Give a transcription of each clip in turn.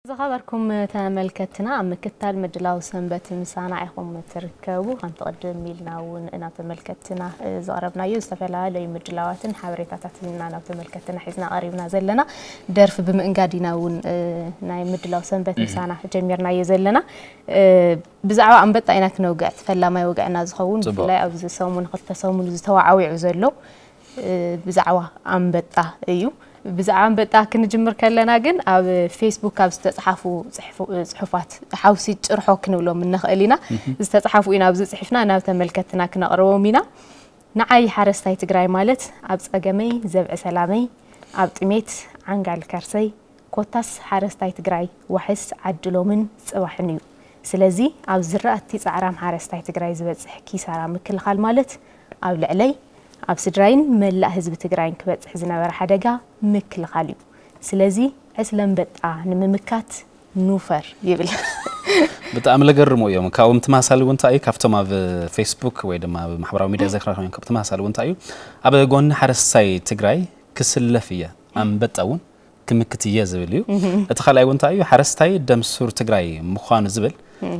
ዝኸበርኩም ተመልከትና፣ ኣብ ምክታል ምድላው ሰንበት ምሳና ኢኹም ትርከቡ። ከምቲ ቅድም ኢልና እውን ናብ ተመልከትና፣ እ፣ ዘቕረብናዮ ዝተፈላለዩ ምድላዋትን ሓበሬታታትን ኢና ናብ ተመልከትና ሒዝና ቀሪብና ዘለና። ደርፊ ብምእንጋድ ኢና እውን፣ እ፣ ናይ ምድላው ሰንበት ምሳና ጀሚርናዮ ዘለና። እ፣ ብዛዕባ ኣንበጣ ኢና ክነውግዕ፣ እቲ ፈላማይ ወግዕና ዝኸውን፣ ጽቡቕ። ብፍላይ ኣብዚ ሰሙን ክልተ ሰሙን ዝተዋዓዊዑ ዘሎ፣ እ፣ ብዛዕባ ኣንበጣ እዩ። ብዛዕባ ኣንበጣ ክንጅምር ከለና ግን ኣብ ፌስቡክ ካብ ዝተጽሓፉ ጽሕፉ-፣ ጽሑፋት ሓውሲ ጭርሖ ክንብሎም እንኽእል ኢና። ዝተጽሓፉ ኢና ኣብዚ ጽሒፍና ናብ ተመልከትና ክነቕርቦም ኢና። ንዓይ ሓረስታይ ትግራይ ማለት ኣብ ጸገመይ ዘብዒ ሰላመይ፣ ኣብ ጥሜት ዓንጋል ከርሰይ፣ ኮታስ ሓረስታይ ትግራይ ዋሕስ ዓድሎምን ጽባሕን እዩ። ስለዚ ኣብ ዝራእቲ ጻዕራም ሓረስታይ ትግራይ ዝበጽሕ ኪሳራ ምክልኻል ማለት ኣብ ልዕለይ፣ ኣብ ስድራይን መላእ ህዝቢ ትግራይን ክበጽሕ ዝነበረ ሓደጋ ምክልኻል እዩ። ስለዚ ዕስለ ኣንበጣ ንምምካት ኑፈር ይብል። ብጣዕሚ ለገርሙ እዮም። ካብኦም ትማሳሊ እውን እንታይ እዩ? ካብቶም ኣብ ፌስቡክ ወይ ድማ ኣብ ማሕበራዊ ሚድያ ዘክራርኩም እዮም። ካብ ትማሳሊ እውን እንታይ እዩ? ኣብ ጎኒ ሓረስታይ ትግራይ ክስለፍ እየ፣ ኣንበጣ እውን ክምክት እየ ዝብል እዩ። እቲ ካልኣይ እውን እንታይ እዩ? ሓረስታይ ደም ሱር ትግራይ ምዃኑ ዝብል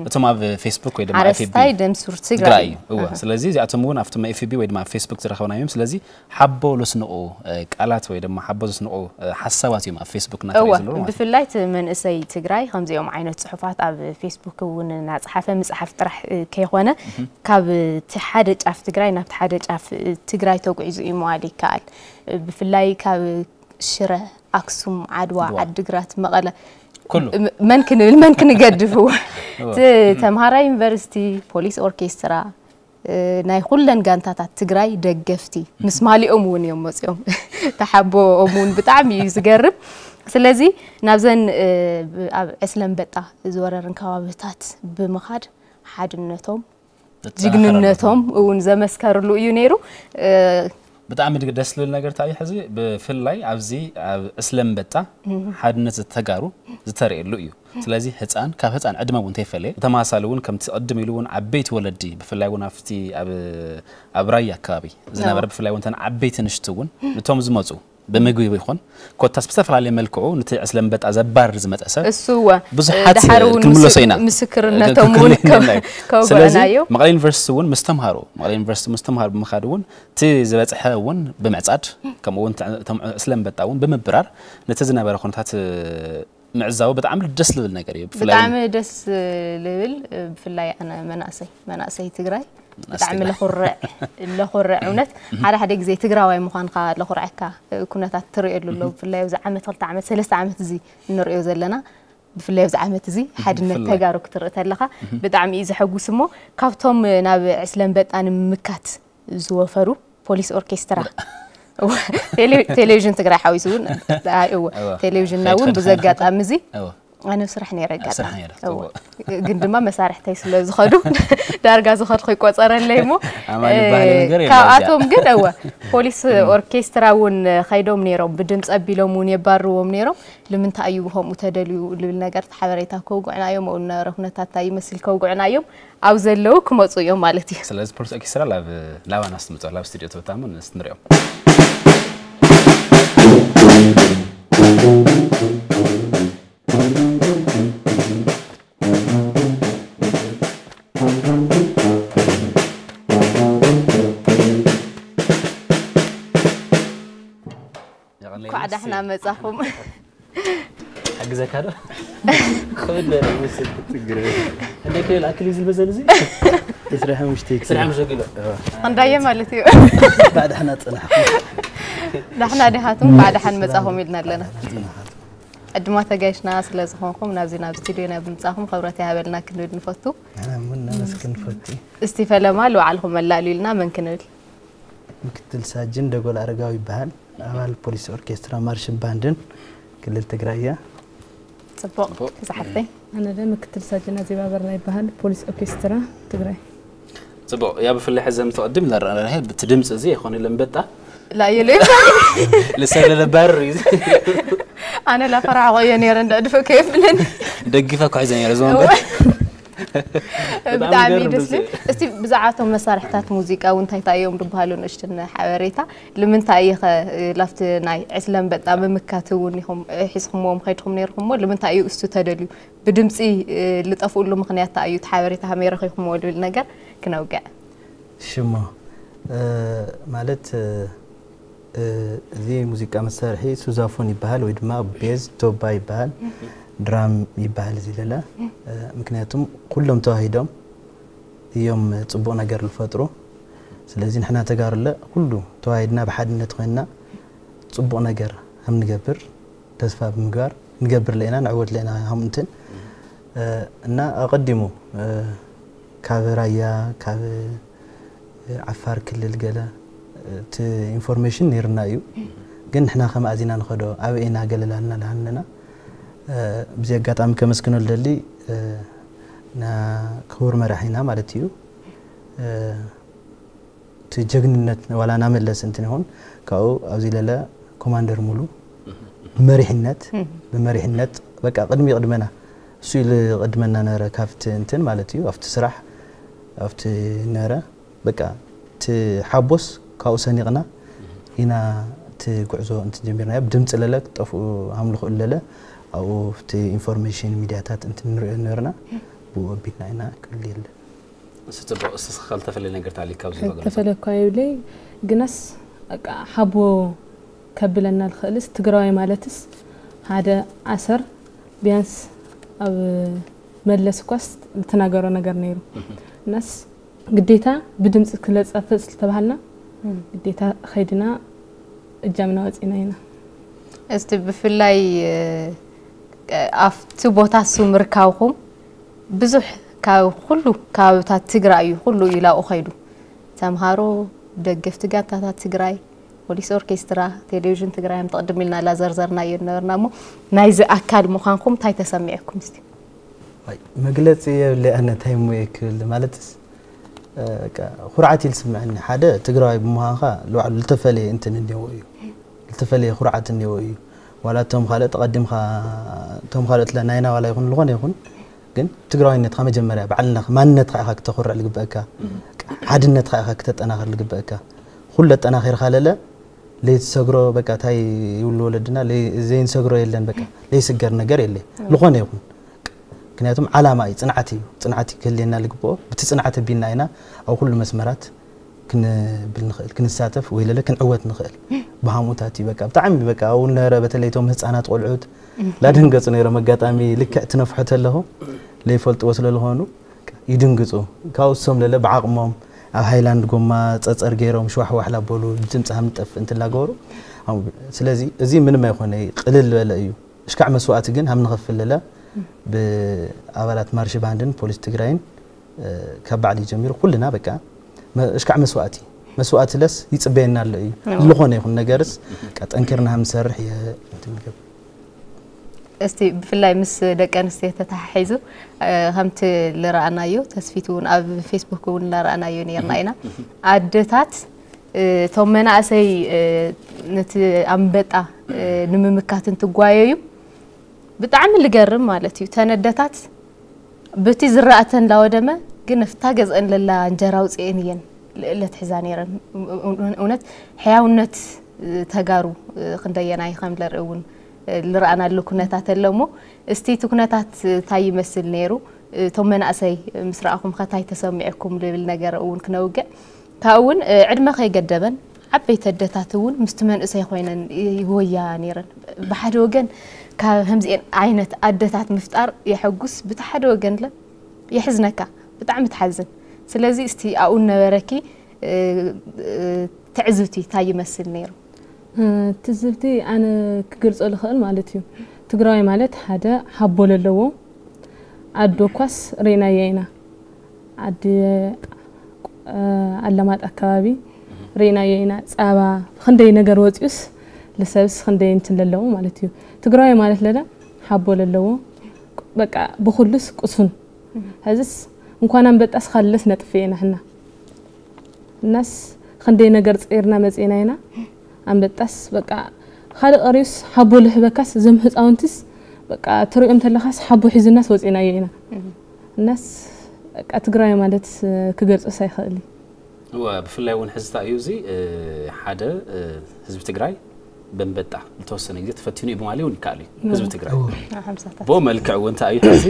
እቶም ኣብ ፌስቡክ ወይ ድማ ኣብ ኤፍ ቢ ሓረስታይ ደም ሱር ትግራይ ትግራይ እዩ። እዩ። እወ። ኣሃ። ስለዚ እዚኣቶም እውን ኣብቶም ኤፍ ቢ ወይ ድማ ኣብ ፌስቡክ ዝረኸብናዮም። ስለዚ ሓቦ ዘስንቑ፣ እ፣ ቃላት ወይ ድማ ሓቦ ዘስንቑ፣ እ፣ ሓሳባት እዮም ኣብ ፌስቡክ እናተራእዩ እወ፣ ዘለዉ ማለት እዩ። ብፍላይ እቲ መንእሰይ ትግራይ ከምዚኦም ዓይነት ጽሑፋት ኣብ ፌስቡክ እውን እናጸሓፈ ምጽሓፍ ጥራሕ፣ እ፣ ከይኮነ፣ ካብ እቲ ሓደ ጫፍ ትግራይ ናብቲ ሓደ ጫፍ፣ እ፣ ትግራይ ተጉዒዙ እዩ ምባል ይከኣል። እ፣ ብፍላይ ካብ ሽረ፣ ኣክሱም፣ ዓድዋ፣ ዓድዋ። ዓድግራት፣ መቐለ፣ ኩሉ። ም-፣ መን ክንብል፣ መን ክንገድፍ? እወ። እቲ ተምሃራይ ዩኒቨርሲቲ፣ ፖሊስ ኦርኬስትራ፣ እ፣ ናይ ኩለን ጋንታታት ትግራይ ደገፍቲ፣ ምስ ማሊኦም እውን እዮም መፂኦም። ተሓቦኦም እውን ብጣዕሚ እዩ ዝገርም። ስለዚ ናብዘን፣ እ፣ ብ-፣ ኣብ ዕስለ ኣንበጣ ዝወረረን ከባብታት ብምኻድ ሓድነቶም፣ ዘጠናኸረሉ። ጅግንነቶም እውን ዘመስከርሉ እዩ ነይሩ። እ፣ ብጣዕሚ ድግ-፣ ደስ ዝብል ነገር እንታይ እዩ? ሕዚ ብፍላይ ኣብዚ ኣብ ዕስለ ኣንበጣ ሓድነት ተጋሩ ዝተርእየሉ እዩ። ስለዚ ህፃን፣ ካብ ህፃን ዕድመ እውን እንተይፈለየ፣ ብተመሳሳሊ እውን ከምቲ ቅድም ኢሉ እውን ዓበይቲ ወለዲ፣ ብፍላይ እውን ኣብቲ ኣብ፣ ኣብ ራያ ኣከባቢ ዝነበረ፣ እዎ። ብፍላይ እውን እተን ዓበይቲ ንሽቲ እውን ነቶም ዝመፁ ብምግቢ ይኹን ኮታስ ብዝተፈላለየ መልክዑ ነቲ ዕስለ ኣንበጣ ዘባርር ዝመፀ ሰብ እሱ እወ፣ ብዙሓት ድሓር እውን ክንምለሶ ምስ-፣ ኢና። ምስክርነቶም እውን ክንክንን ከ-፣ ኢና። ከውግዑና ስለዚ እዮም። መቐለ ዩኒቨርሲቲ እውን ምስ ተምሃሮ፣ መቐለ ዩኒቨርሲቲ ምስ ተምሃሮ ብምኻድ እውን እቲ ዝበፅሐ እውን ብምዕፃድ፣ ከምኡ እውን እቶም ዕስለ ኣንበጣ እውን ብምብራር ነቲ ዝነበረ ኩነታት ምዕዛቡ ብጣዕሚ ደስ ዝብል ነገር እዩ። ብፍላይ እውን ብጣዕሚ ደስ ዝብል፣ ብፍላይ ኣነ መናእሰይ፣ መናእሰይ ትግራይ መናእሰይ ብጣዕሚ ትግራይ። ለኹርዕ፣ ለኹርዕ እውነት። ሓደ ሓደ ግዜ ትግራዋይ ምዃንካ ለኹርዐካ ኩነታት ትርእየሉ ኣሎ። ብፍላይ ኣብዚ ዓመት፣ ክልተ ዓመት፣ ሰለስተ ዓመት እዚ እንርእዮ ዘለና፣ ብፍላይ ኣብዚ ዓመት እዚ ሓድነት ብፍላይ። ተጋሩ ክትርኢ ተለኻ ብጣዕሚ እዩ ዘሐጉስ። እሞ ካብቶም ናብ ዕስለ ኣንበጣ ንምምካት ዝወፈሩ ፖሊስ ኦርኬስትራ። እወ፣ ቴሌ-፣ ቴሌቪዥን ትግራይ ሓዊሱ እውን፣ ኣይ፣ እወ፣ እወ። ቴሌቪዥንና እውን ከይትኸድ ብዚ ከይትኸድ። ኣጋጣሚ እዚ እወ። ኣነ ኣብ ስራሕ ነይረ ኣብ ስራሕ ኣጋጣሚ። ነይረ፣ እወ። እወ። ግን ድማ መሳርሕተይ ስለ ዝኸዱ፣ ዳርጋ ዝኸድኩ ይቆጸረለይ እሞ፣ ኣማን ዝበሃል እ፣ ነገር የለን ካብኣቶም እዚኣ። ግን፣ እወ፣ ፖሊስ ኦርኬስትራ እውን ከይዶም ነይሮም፣ ብድምፂ ኣቢሎም እውን የባርዎም ነይሮም። ንምንታይ እዩ ከምኡ ተደልዩ ልብል ነገር፣ እቲ ሓበሬታ ከውግዑና እዮም፣ ኣብኡ ዝነበረ ኩነታት እንታይ ይመስል ከውግዑና እዮም። ኣብ ዘለዉ ክመጹ እዮም ማለት እዩ። ስለዚ ፖሊስ ኦርኬስትራ ላብ-፣ ላባና ስትምጹ፣ ላብ ስቱዲዮ ትበታሙ ንስ ንሪኦም። እንኳዕ ዳሕና መጻኹም። ሓግዘካ ዶ? ክብድ በለ ይመስል። ችግር የለም። እንደ ክልል ኣክል ይዝል በዘን እዚ? ዕስራ ሓሙሽተ ኪሎ። ዕስራ ሓሙሽተ ኪሎ። ኣዎ። ክንዳየ ማለት እዩ። ባዕዳሕና ጽናሕ። ዳሕና ዲኻትም፣ ባዕዳሓን መጻኹም ኢልና ኣለና። ጽናሓት። ዕድማ ተጋይሽና ስለ ዝኾንኩም፣ ናብዚ ናብ ስቱዲዮ ናብ ምጻኹም ክብረት ይሃበልና ክንብል ንፈቱ። ኣነ እውን ነመስግን ንፈቱ። እስቲ ፈለማ ልባዕልኹም መላልዩልና መን ክንብል? ምክትል ሳጅን ደጎል ኣረጋዊ ይበሃል። ኣባል ፖሊስ ኦርኬስትራ ማርሽን ባንድን ክልል ትግራይ እያ። ጽቡቕ፣ እዛ ሓፍተይ። ኣነ ደ ምክትል ሳጅን ኣዜብ ኣበራ ይበሃል፣ ፖሊስ ኦርኬስትራ ትግራይ። ጽቡቕ፣ ያ ብፍላይ ሕዚ ምትቕድም ኢልና ረኣና፣ ብቲ ድምፂ እዚ ይኾን ኢለ እምበጣ። ላየለ ልሰለለ ባር እዩ። ኣነ ላፈራዕቆ እየ ነይረ፣ እንዳ ድፈ ከየብለኒ። ደግፈ እኮ ሒዘ ነይረ፣ እዚ ወንበር። እወ። ብጣዕሚ ደስ ዝብል። እስቲ ብዛዕባ እቶም መሳርሕታት ሙዚቃ እውን እንታይ እንታይ እዮም ዝበሃሉ ንእሽትን ሓበሬታ? ንምንታይ ኢኸ ላፍቲ ናይ ዕስለ ኣንበጣ ምምካት እውን ኢኹም ሒዝኩምዎም ከይድኩም ነይርኩምሞ? ንምንታይ እዩ እሱ ተደልዩ? ብድምፂ ልጠፍኡሉ ምኽንያት እንታይ እዩ? እቲ ሓበሬታ ከመይ ረኺብኩምዎ ዝብል ነገር ክነውግዕ። ሽሞ ማለት እዚ ሙዚቃ መሳርሒ ሱዛፎን ይበሃል ወይ ድማ ቤዝ ቶባ ይበሃል፣ ድራም ይበሃል እዚ ለለ። ምክንያቱም ኩሎም ተዋሂዶም እዮም ጽቡቕ ነገር ዝፈጥሩ። ስለዚ ንሕና ተጋሩለ ኩሉ ተዋሂድና ብሓድነት ኮይንና ጽቡቕ ነገር ከም ንገብር ተስፋ ብምግባር ንገብር ለና ንዕወት ለና ከም እንትን እና ኣቐዲሙ ካብ ራያ ካብ ዓፋር ክልል ገለ እቲ ኢንፎርሜሽን ነይርና እዩ። ግን ንሕና ከም ኣዚና ንኸዶ ኣብ ኢና ገለላልና ለሃንና ብዚ ኣጋጣሚ ከመስግኖ ልደሊ ክቡር መራሒና ማለት እዩ። እቲ ጀግንነት ዋላ ናመለስ እንትን ይኹን ካብኡ ኣብዚ ለለ ኮማንደር ሙሉ ብመሪሕነት ብመሪሕነት በቃ ቅድሚ ቅድመና እሱ ኢሉ ቅድመና ነረ ካብቲ እንትን ማለት እዩ ኣብቲ ስራሕ ኣብቲ ነረ በቃ እቲ ሓቦስ ካብኡ ሰኒቕና ኢና እቲ ጉዕዞ እንትን ጀሚርና ብድምፂ ለለ ክጠፍኡ ኣምልኹ ለለ ኣብኡ እቲ ኢንፎርሜሽን ሚዲያታት እንትን ንሪኦ ነርና ብኡ ኣቢልና ኢና ክብል የለ እሱ ጽቡቅ እስስ ከልተፈለ ነገር ታሊካ ኣብዚ ነገር ተፈለኳ ይብለይ ግናስ በቃ ሓቦ ከብለና ልኽእልስ ትግራዋይ ማለትስ ሓደ ኣሰር ቢያንስ ኣብ መለስ ኳስ ልትናገሮ ነገር ነይሩ እናስ ግዴታ ብድምፂ ክለፀፍፅ ዝተባሃልና ግዴታ ኸይድና እጃምና ወፂና ኢና። እስቲ ብፍላይ ኣብቲ ቦታ እሱ ምርካብኩም ብዙሕ ካብ ኩሉ ከባብታት ትግራይ እዩ ኩሉ ኢላኡ ኸይዱ ተምሃሮ ደገፍቲ ጋንታታት ትግራይ ፖሊስ ኦርኬስትራ ቴሌቪዥን ትግራይ ምተቕድም ኢልና ላዘርዘርና እዩ ነበርና እሞ ናይዚ ኣካል ምዃንኩም እንታይ ተሰሚዕኩም እስቲ መግለፂ የብለ ኣነ እንታይ ሞ ክብል ማለትስ ኩርዓት ኢል ስምዐኒ ሓደ ትግራዋይ ብምዃንካ ልባዕሉ ልተፈለየ እንትን እንዲዎ እዩ ልተፈለየ ኩርዓት እንዲዎ እዩ ዋላ እቶም ካልእ ተቐዲምካ እቶም ካልኦት ናይና ዋላ ይኹን ዝኾነ ይኹን ግን ትግራዋይነትካ መጀመርያ ባዕልነትካ ማንነትካ ኢኻ ክተኹርዕ ልግበእካ ሓድነትካ ኢኻ ክተጠናኽር ልግበእካ ኩሉ ኣጠናኺርካ ለለ ለይትሰግሮ በቃ ታይ ይብሉ ወለድና ዘይንሰግሮ የለን በቃ ለይስገር ነገር የለ ዝኾነ ይኹን ምክንያቱም ዓላማ እዩ ፅንዓት እዩ ፅንዓት ክህልየና ልግብኦ ብቲ ፅንዓት ኣቢልና ኢና ኣብ ኩሉ መስመራት ክንብል ንኽእል ክንሳተፍ ወይ ለለ ክንዕወት ንኽእል ብሃሙታት እዩ በቃ ብጣዕሚ በቃ ኣብኡ ነበረ በተለይ ቶም ህፃናት ቆልዑት ላደንገፁ ነይሮም ኣጋጣሚ ልክዕ ትነፍሖ ተለኹ ለይፈልጥዎ ስለ ዝኾኑ ይድንግፁ ካብኡ እሶም ለለ ብዓቕሞም ኣብ ሃይላንድ ጎማ ፀፀር ገይሮም ሽዋሕዋሕ ላበሉ ድምፂ ሃም ንጠፍእ እንትላገበሩ ስለዚ እዚ ምንም ኣይኮነ ቅልል ዝበለ እዩ እሽካዕ መስዋእቲ ግን ሃም ንኸፍል ለለ ብኣባላት ማርሽ ባንድን ፖሊስ ትግራይን ካብ ባዕሊ ጀሚሩ ኩልና በቃ እሽካዕ መስዋእቲ መስዋእቲ ለስ ይፅበየና ኣሎ እዩ ዝኾነ ይኹን ነገርስ ጠንኪርና ሃም ንሰርሕ እየ እስቲ ብፍላይ ምስ ደቂ ኣንስትዮ ተተሓሒዙ ከምቲ ልረኣናዮ ተስፊት እውን ኣብ ፌስቡክ እውን እናረኣናዮ ነርና ኢና ኣደታት እቶም መናእሰይ ነቲ ኣንበጣ ንምምካት እንትጓየዩ ብጣዕሚ ልገርም ማለት እዩ ተነደታት በቲ ዝረኣተን ላወደመ ግን እፍታ ገዝአን ለላ እንጀራ ውፅኤን እየን ለትሕዛ ነይረን እውነት ሕያውነት ተጋሩ ክንደየናይ ከም ለርኢ እውን ልረኣናሉ ኩነታት ኣሎ እሞ እስቲ እቲ ኩነታት እንታይ ይመስል ነይሩ እቶም መናእሰይ ምስ ረኣኹም ከታይ ተሰሚዕኩም ልብል ነገር እውን ክነውግዕ ካብኡ እውን ዕድመ ከይገደበን ዓበይቲ ኣደታት እውን ምስቲ መንእሰይ ኮይነን ይወያ ነይረን ብሓደ ወገን ካብ ከምዚአን ዓይነት ኣደታት ምፍጣር የሐጉስ ብቲ ሓደ ወገን ለ የሕዝነካ ብጣዕሚ ትሓዝን ስለዚ እስቲ ኣብኡ ነበረኪ ትዕዝብቲ እንታይ ይመስል ነይሩ ትዝብቲ ኣነ ክገልፆ ልኽእል ማለት እዩ ትግራዋይ ማለት ሓደ ሓቦ ለለዎ ኣዶ ኳስ ርኢናያ ኢና ዓዲ ኣለማጣ ኣከባቢ ርኢናዮ ኢና ፃባ ክንደይ ነገር ወፂኡስ ልሰብስ ክንደይ እንትን ለለዎ ማለት እዩ ትግራዋይ ማለት ለለ ሓቦ ለለዎ በቃ ብኩሉስ ቁሱን ሕዝስ እንኳን ኣንበጣስ ካልለስ ነጥፍ ኢና ሕና እናስ ክንደይ ነገር ፀይርና መፅእና ኢና ኣንበጣስ በቃ ካልእ ቀሪዩስ ሓቦ ልሕበካስ ዘም ህፃውንትስ በቃ ትሪኦም ተለኻስ ሓቦ ሒዝናስ ወፂናዮ ኢና እናስ በቃ ትግራይ ማለት ክገልጾስ ኣይኽእል እዩ። እወ፣ ብፍላይ እውን ሕዚ እንታይ እዩ እዚ ሓደ ህዝቢ ትግራይ በንበጣ ዝተወሰነ ግዜ ተፈቲኑ እዩ ብማለት እውን ይከኣል እዩ። ህዝቢ ትግራይ ብኡ መልክዕ እውን እንታይ እዩ ሕዚ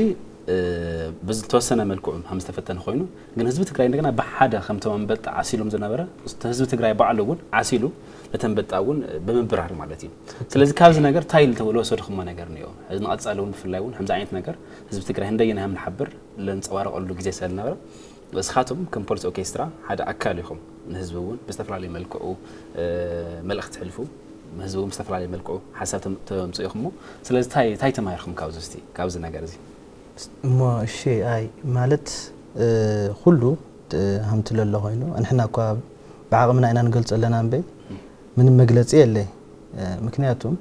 ብዝተወሰነ መልክዑ ከም ዝተፈተነ ኮይኑ፣ ግን ህዝቢ ትግራይ እንደገና ብሓደ ከምቶም ኣንበጣ ዓሲሎም ዝነበረ ህዝቢ ትግራይ ባዕሉ እውን ዓሲሉ ነተንበጣ እውን ብምብራር ማለት እዩ። ስለዚ ካብዚ ነገር እንታይ ዝተወሰድኩሞ ነገር እኒኦ? እዚ ንቐፃሊ እውን ብፍላይ እውን ከምዚ ዓይነት ነገር ህዝቢ ትግራይ እንደየናይ ከም ንሓብር ለንፀባረቐሉ ግዜ ስለዝነበረ፣ እስኻትኩም ከም ፖሊስ ኦርኬስትራ ሓደ ኣካል ኢኹም። ንህዝቢ እውን ብዝተፈላለየ መልክዑ መልእኽቲ ትሕልፉ፣ ህዝቢ እውን ብዝተፈላለየ መልክዑ ሓሳብ ተምፅኡ ኢኹም። ስለዚ እንታይ እንታይ ተማሂርኩም ካብዚ እስቲ ካብዚ ነገር እዚ? እሞ እሺ፣ ኣይ ማለት ኩሉ ሃምቲ ለሎ ኮይኑ፣ ንሕና እኳ ብዓቕምና ኢና ንገልጾ ኣለና እምበይ ምንም መግለጺ የለይ። ምክንያቱም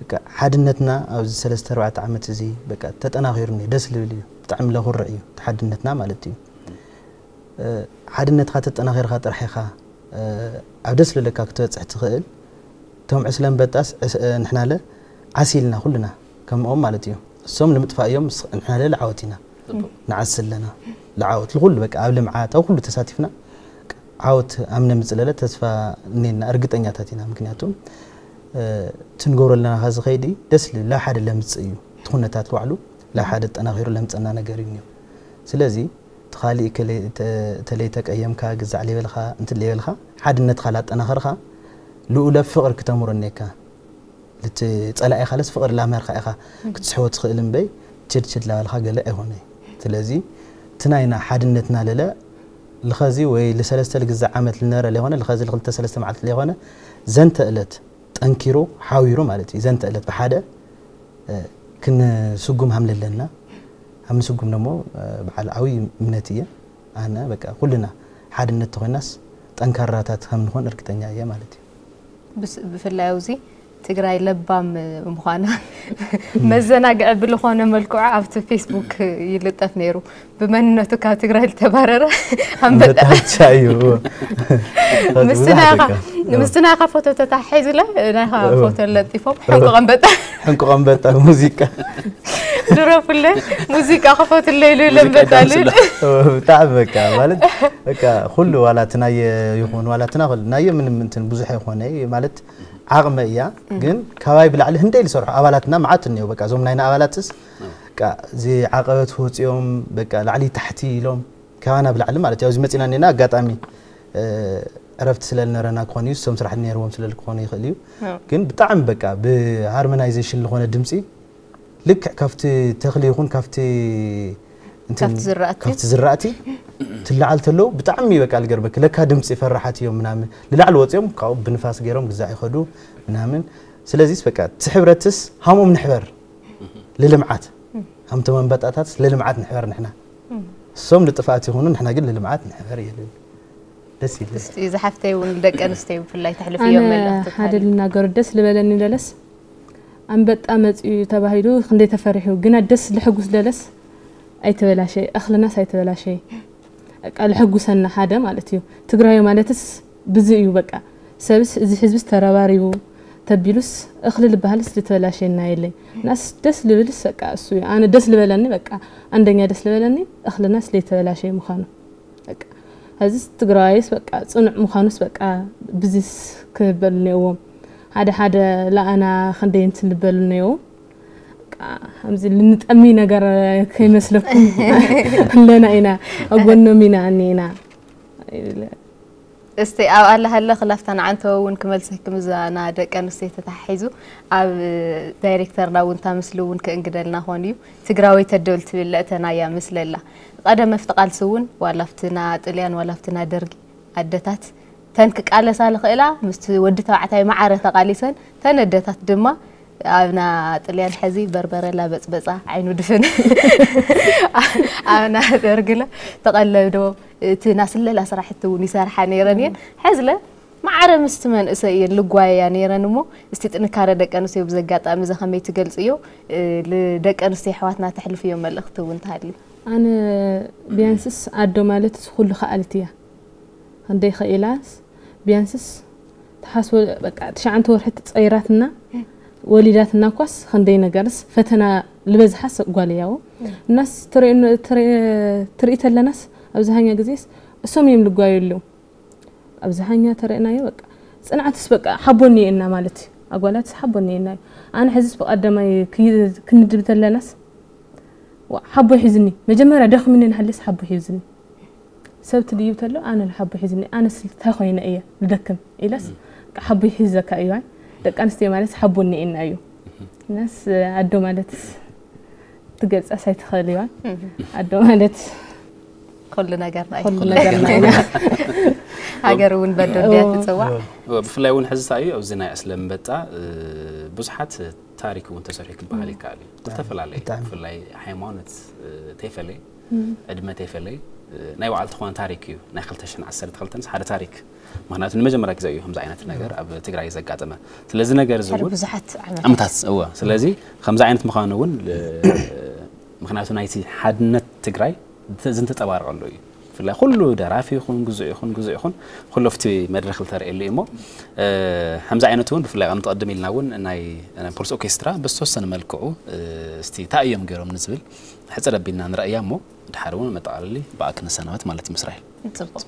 በቃ ሓድነትና ኣብዚ ሰለስተ ኣርባዕተ ዓመት እዚ በቃ ተጠናኺሩ እኒኦ፣ ደስ ልብል እዩ፣ ብጣዕሚ ለኹርዕ እዩ እቲ ሓድነትና ማለት እዩ። ሓድነትካ ተጠናኺርካ ጥራሕ ኢኻ ኣብ ደስ ልለካ ክትበፅሕ ትኽእል። እቶም ዕስለ ኣንበጣስ ንሕናለ ዓሲልና ኩልና ከምኦም ማለት እዩ። እሶም ንምጥፋእ እዮም፣ ንሕናለ ልዓወት ኢና ንዓሲ ኣለና። ልዓወት ልኩሉ በቃ ኣብ ልምዓት ኣብ ኩሉ ተሳቲፍና ዓወት ኣምነ ምፅለለ ተስፋ እኔና እርግጠኛታት ኢና። ምክንያቱም ትንገብሮ ኣለና ካዚ ከይዲ ደስ ልብል ላብ ሓደ ለምፅእ እዩ። እቲ ኩነታት ባዕሉ ላብ ሓደ ጠናኺሩ ለምፀና ነገር እዩ እኒኦ። ስለዚ እቲ ካሊእ እከለ ተለይ ተቀየምካ ግዛዕ ለይበልካ እንትን ለይበልካ ሓድነትካ ላጠናኸርካ ልኡለ ፍቕር ክተምሮ እኔካ። ልቲ ፀላኢ ካለስ ፍቕር ላምህርካ ኢኻ ክትስሕቦ ትኽእል እምበይ ችድችድ ላበልካ ገለ ኣይኾነ። ስለዚ እቲ ናይና ሓድነትና ለለ ልኸዚ ወይ ልሰለስተ ልግዛዕ ዓመት ልነረ ለይኾነ ልኸዚ ልክልተ ሰለስተ መዓልቲ ለይኾነ ዘንተ እለት ጠንኪሩ ሓዊሩ ማለት እዩ። ዘንተ እለት ብሓደ ክንስጉም ሃም ለለና ሃም ንስጉም ደሞ በዓል ዓብይ እምነት እየ ኣነ በቃ ኩልና ሓድነት ተኾይናስ ጠንካራታት ከም ንኾን እርግጠኛ እየ ማለት እዩ። ብፍላይ ኣብዚ ትግራይ ለባም ምዃና መዘናግዒ ብልኾነ መልክዑ ኣብቲ ፌስቡክ ይልጠፍ ነይሩ። ብመንነቱ ካብ ትግራይ ዝተባረረ ኣንበጣ ኣንበጣ ብቻ እዩ። ምስቲ ናይኻ ምስቲ ናይኻ ፎቶ ተታሒዙለ ናይኻ ፎቶ ለጢፎም ሕንቁቕ ኣንበጣ ሕንቁቕ ኣንበጣ ሙዚቃ ድረፉለ ሙዚቃ ክፈትለይ ኢሉ ለንበጣ ልብል ብጣዕሚ በቃ ማለት በቃ ኩሉ ዋላ እቲ ናየ ይኹን ዋላ እቲ ናኹል ናየ ምንም እንትን ብዙሕ ይኾነ ማለት ዓቕመ እያ ግን ካባይ ብላዕሊ ህንደይ ዝሰርሑ ኣባላትና መዓት እኒኦ በቃ እዞም ናይና ኣባላትስ በቃ እዚ ዓቐበት ወፂኦም በቃ ላዕሊ ታሕቲ ኢሎም ካባና ብላዕሊ ማለት ያው እዚ መፂና እኒና ኣጋጣሚ ዕረፍቲ ስለ ዝነበረና ክኾን እዩ እሶም ስራሕ ነይርዎም ስለ ክኾኑ ይኽእል እዩ ግን ብጣዕሚ በቃ ብሃርሞናይዜሽን ዝኾነ ድምፂ ልክዕ ካብቲ ተኽሊ ይኹን ካብቲ እንትን ካብቲ ዝራእቲ። ካብቲ ዝራእቲ ትለዓል ተለዉ ብጣዕሚ በቃ ልገርመኪ ለካ ድምፂ ፈራሓት እዮም ምናምን ልላዕሊ ወፂኦም ካብኡ ብንፋስ ገይሮም ግዛዕ ይኸዱ ምናምን ስለዚስ በቃ እቲ ሕብረትስ ሃምኦም ንሕበር ልልምዓት ሃምቶም ኣንበጣታትስ ልልምዓት ንሕበር ንሕና እሶም ልጥፍኣት ይኹኑ ንሕና ግን ልልምዓት ንሕበር ይልል ደስ ይብል እስቲ ዝሓፍተይ እውን ደቂ ኣንስትዮ ብፍላይ ተሕልፍዮም ኣነ መልእኽቲ ሓደ ተሃልዩ ልናገሩ ደስ ልበለኒ ለለስ ኣንበጣ መፅዩ ተባሂሉ ክንደይ ተፈሪሑ ግና ደስ ልሕጉስ ለለስ ኣይተበላሸ እኽልናስ ኣይተበላሸ በቃ ልሕጉሰና ሓደ ማለት እዩ ትግራዊ ማለትስ ብዚ እዩ በቃ ሰብስ እዚ ህዝብስ ተረባሪቡ ተቢሉስ እኽሊ ልበሃልስ ልተበላሸና የለይ ናስ ደስ ልብልስ በቃ እሱ እዩ ኣነ ደስ ልበለኒ በቃ ኣንደኛ ደስ ልበለኒ እኽልናስ ለይተበላሸ ምዃኑ በቃ ሀዚስ ትግራዋይስ በቃ ፅኑዕ ምዃኑስ በቃ ብዚስ ክበሉ ነይዎም ሓደ ሓደ ለኣና ክንደይ እንትን ልበሉ ነይዎም በቃ ከምዚ ልንጠሚ ነገር ከይመስለኩም ኣለና ኢና ኣጎኖም ኢና ኣኒና እስቲ ኣብ ኣለሃለ ክላፍታ ንዓንተወ እውን ክመልሰክም እዛ ና ደቂ ኣንስትዮ ተተሓሒዙ ኣብ ዳይሬክተርና እውን እታ ምስሊ እውን ክእንግደልና ኾን እዩ ትግራወይ ተደብል ትብል ለእተናያ ምስለላ ቀደም ኣብቲ ቃልሲ እውን ዋላ ኣብቲ ና ጥልያን ዋላ ኣብቲ ና ደርጊ ኣደታት ተን ክቃለሳ ልኽእላ ምስቲ ወዲ ተባዕታይ መዓረ ተቃሊሰን ተን ኣደታት ድማ ኣብና ጥልያን ሕዚ በርበረ ላበፅበፃ ዓይኑ ድፍን ኣብና ደርግለ ተቐለብዶ እቲ ናስለላ ስራሕቲ እውን ይሰርሓ ነይረን እየን ሕዝለ ማዕረ ምስቲ መንእሰይ እየን ልጓየያ ነይረን እሞ እስቲ ጥንካረ ደቂ ኣንስትዮ ብዚ ኣጋጣሚ እዚ ከመይ ትገልፅዮ ንደቂ ኣንስትዮ ኣሕዋትና ተሕልፍዮ መልእኽቲ እውን ተሃልዩ ኣነ ቢያንስስ ኣዶ ማለትስ ኩሉ ከኣልት እያ ክንደይ ከኢላስ ቢያንስስ ትሓስቦ በቃ ትሽዓንተ ወርሒ ትፀይራትና ወሊዳትና እኳስ ክንደይ ነገርስ ፈተና ዝበዝሓስ ጓል እያ። እናስ ትርኢ ተለናስ ኣብዝሃኛ ግዜስ እሶም እዮም ልጓዩ ኣለዉ። ኣብዝሃኛ ተረእናዮ በቃ ጽንዓትስ በቃ ሓቦኒ እና ማለት እዩ። ኣጓላትስ ሓቦኒ እና እዩ። ኣነ ሕዝስ ብቀደማይ ክንድብ ተለናስ ሓቦ ሒዝኒ መጀመርያ ደኽምኒ ንሃለስ ሓቦ ሒዝኒ ሰብ ትድይብ ተሎ ኣነ ሓቦ ሒዝኒ ኣነ ስልታይ ኮይነ እየ ልደክም ኢለስ ሓቦ ይሕዘካ እዩ። ደቂ ኣንስትዮ ማለት ሓቦ እኒኤና እዩ። ነስ ኣዶ ማለት ትገልጻስ ኣይትኽእል እያ። ኣዶ ማለት ኩሉ ነገርና እዩ። ኩሉ ነገርና ኢና። ሃገር እውን በዶ እንድያ ትፅዋዕ። ብፍላይ እውን ሕዚ እንታይ እዩ ኣብዚ ናይ ኣስለምበጣ ብዙሓት ታሪክ እውን ተሰሪሑ ክበሃል ይከኣል እዩ። ዝተፈላለየ ብፍላይ ሃይማኖት ተይፈለየ ዕድመ ተይፈለየ ናይ ባዕሉ ዝኾነ ታሪክ እዩ። ናይ ክልተ ሽሕን ዓሰርተ ክልተን ሓደ ታሪክ ምክንያቱ ንመጀመርያ ግዜ እዩ ከምዚ ዓይነት ነገር ኣብ ትግራይ ዘጋጠመ። ስለዚ ነገር እዚ እውን ብዙሓት ዓመታት ዓመታት እወ ስለዚ ከምዚ ዓይነት ምዃኑ እውን ምክንያቱ ናይቲ ሓድነት ትግራይ ዝንተፀባረቐሉ እዩ። ብፍላይ ኩሉ ደራፊ ይኹን ግዙእ ይኹን ግዙእ ይኹን ኩሉ ኣብቲ መድረኽ ዝተርእየሉ እዩ እሞ ከምዚ ዓይነት እውን ብፍላይ ከም ትቐድም ኢልና እውን ናይ ፖሊስ ኦርኬስትራ ብዝተወሰነ መልክዑ እስቲ እንታይ እዮም ገይሮም ንዝብል ሕፅር ኣቢልና ንረእያ እሞ ድሓር እውን መጠቓለሊ ብኣ ክንሰናበት ማለት እዩ። ምስራኤል ፅቡቅ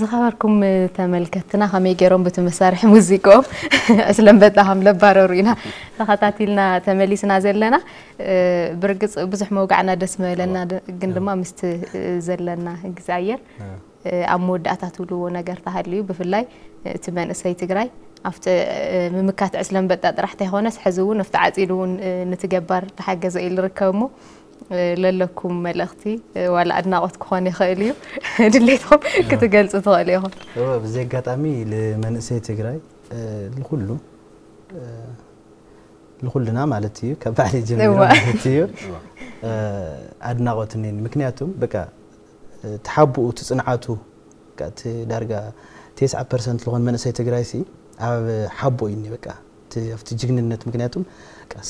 ዝኸበርኩም ተመልከትና ከመይ ገይሮም ብቲ መሳርሒ ሙዚቆም ዕስለምበጣ ከም ለባረሩ ኢና ተኸታቲልና ተመሊስና ዘለና። ብርግፅ ብዙሕ መውጋዕና ደስ መበለና ግን ድማ ምስቲ ዘለና ግዜ ኣየር ኣብ መወዳእታ ትብልዎ ነገር ተሃልዩ ብፍላይ እቲ መንእሰይ ትግራይ ኣብቲ ምምካት ዕስለምበጣ ጥራሕ ተይኮነስ ሕዚ እውን ኣብቲ ዓፂዱ እውን ንትገባር ተሓገዘ ኢሉ ርከብ እሞ ለለኩም መልእኽቲ ዋላ ኣድናቖት ክኾን ይኽእል እዩ ድሌትኩም ክትገልፁ ትኽእሉ ኢኹም። እወ ብዚ ኣጋጣሚ ንመንእሰይ ትግራይ ንኩሉ ንኩልና ማለት እዩ ካብ ባዕለይ ጀሚሩ ማለት እዩ ኣድናቖት እኒኒ ምክንያቱም በቃ እቲ ሓቦኡ እቲ ፅንዓቱ እቲ ዳርጋ ተስዓ ፐርሰንት ዝኾን መንእሰይ ትግራይ ሲ ኣብ ሓቦ እዩ በቃ ኣብቲ ጅግንነት ምክንያቱም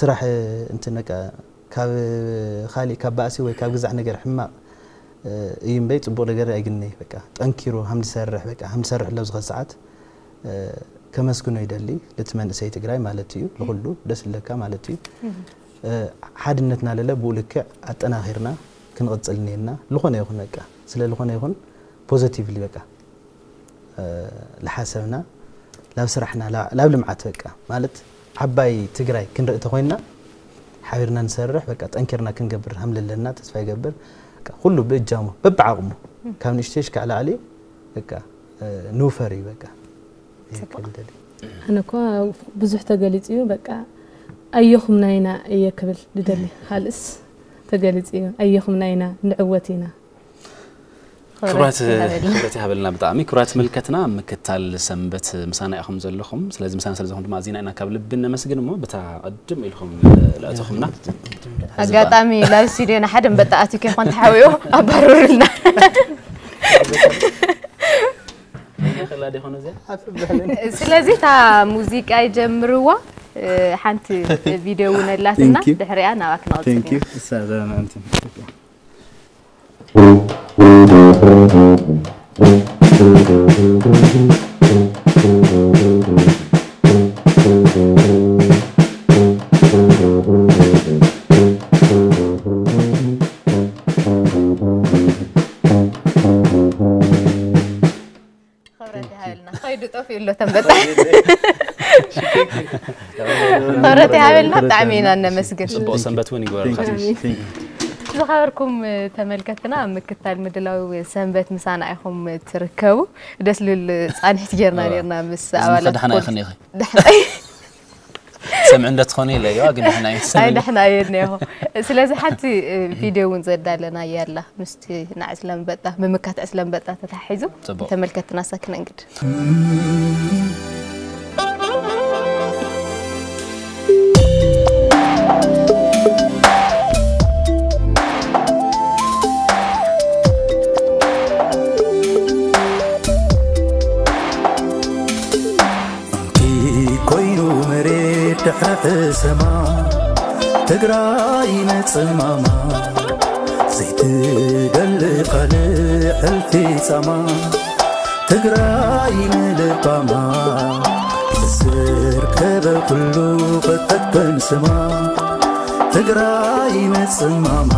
ስራሕ እንትን በቃ ካብ ካሊእ ካብ ባእሲ ወይ ካብ ግዛዕ ነገር ሕማቕ እዩ እምበይ ፅቡቕ ነገር ኣይግነይ በቃ ጠንኪሩ ሃም ዝሰርሕ በቃ ሃም ዝሰርሕ ኣሎ ዝኸ ሰዓት ከመስግኖ ይደሊ ልቲ መንእሰይ ትግራይ ማለት እዩ ልኩሉ ደስ ለካ ማለት እዩ ሓድነትና ለለ ብኡ ልክዕ ኣጠናኺርና ክንቕፅል እኒኤና ዝኾነ ይኹን በቃ ስለ ዝኾነ ይኹን positively በቃ ዝሓሰብና ናብ ስራሕና ናብ ልምዓት በቃ ማለት ዓባይ ትግራይ ክንርኢ ተኮይንና ሓቢርና ንሰርሕ በቃ ጠንኪርና ክንገብር ሃም ለለና ተስፋ ይገብር ኩሉ ብእጃሙ በብዓቕሙ ካብ ንእሽተይ ሽካዕ ላዕሊ በቃ ንውፈር እዩ በቃ ኣነ እኳ ብዙሕ ተገሊፁ እዩ በቃ ኣየኹምና ኢና እየ ክብል ዝደሊ ካልእስ ተገሊፁ እዩ ኣየኹምና ኢና ንዕወት ኢና ክብረት ይሃበልና ብጣዕሚ ክብራት ምልከትና ምክታል ሰንበት ምሳና ኢኹም ዘለኹም ስለዚ ምሳና ስለ ዝኾም ድማ ኣዚና ኢና ካብ ልቢ ነመስግን እሞ ብታ ቅድም ኢልኹም ለእተኹምና ኣጋጣሚ ናብ ስቱዲዮና ሓደ እምበጣ ኣትዩ ከይኾን ተሓዊኡ ኣባረሩልና ስለዚ እታ ሙዚቃ ይጀምርዋ ሓንቲ ቪድዮ እውን ኣላትና ድሕሪያ ናብኣ ክነቕፅል ክብረት ይሃበልና። ከይዱ ጠፊኡ ኣሎ ተንበጣ። ክብረት ይሃበልና። ብጣዕሚ ኢና እነመስግን። ጽቡቕ ሰንበት እውን ይግበረልካ። ዝኸበርኩም ተመልከትና፣ ኣብ ምክታል ምድላው ሰንበት ምሳና ኢኹም ትርከቡ። ደስ ልብል ጻንሒት ጌርና ኔርና ምስ ኣባላት ደሓና ፖሊስ። ይኽን ኢኺ። ደሓና ሰምዕ እንደ ትኾኒ ኢለ እየዋ፣ ግን ደሕና እዩ። ኣይ ደሕና እየ እኒአኹ። ስለዚ ሓንቲ እ፣ ቪድዮ እውን ዘዳለና እያ ኣላ፣ ምስቲ ናዕ ስለንበጣ፣ ምምካት ስለንበጣ ተታሒዙ። ጽቡቕ። ተመልከትና ሰክነንግድ። እንኪ ኮይኑ መሬት ድሕሪ ሕሰማ፣ ትግራይ ንጽማማ፣ ዘይትደሊ ካልእ ሕልፊ ጻማ። ትግራይ ንልባማ፣ ዝርከበ ኩሉ ክጠቅም ስማ። ትግራይ ንጽማማ።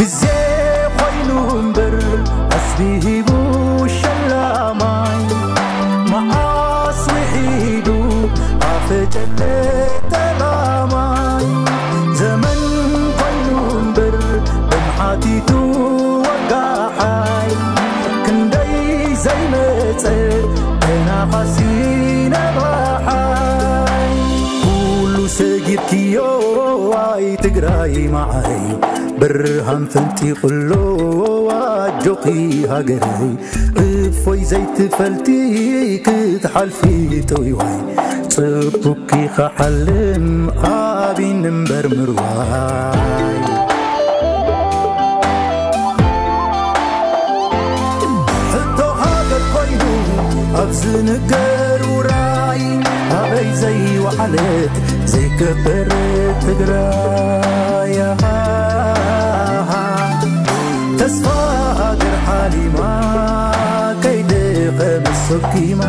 ግዜ ኮይኑ እምበር ኣስቢሂቡ ሸላማይ፣ መዓስ ውሒዱ ኣፈጨለ ጠላማይ። ዘመን ኮይኑ እምበር ደም ሓቲቱ ወጋሓይ፣ ክንደይ ዘይመጸ ተናፋሲ ነባሓይ። ኩሉ ሰጊርክዮ ኣይ ትግራይ መዓረይ፣ ብርሃን ፈንጢቑሎ ኣጆኺ ሃገረይ። እፎይ ዘይትፈልጢ ክትሓልፊ ጥውይዋይ፣ ጽቡቕኪ ክሓልም ኣብይን እምበር ምርዋይ። ሕቶ ሃገር ኮይኑ ኣብ ዝንገር ውራይ፣ ኣበይ ዘይወዓለት ዘይከበረት ትግራይ። ተስፋ ሃገር ሓሊማ ከይደኸመት ሰኪማ፣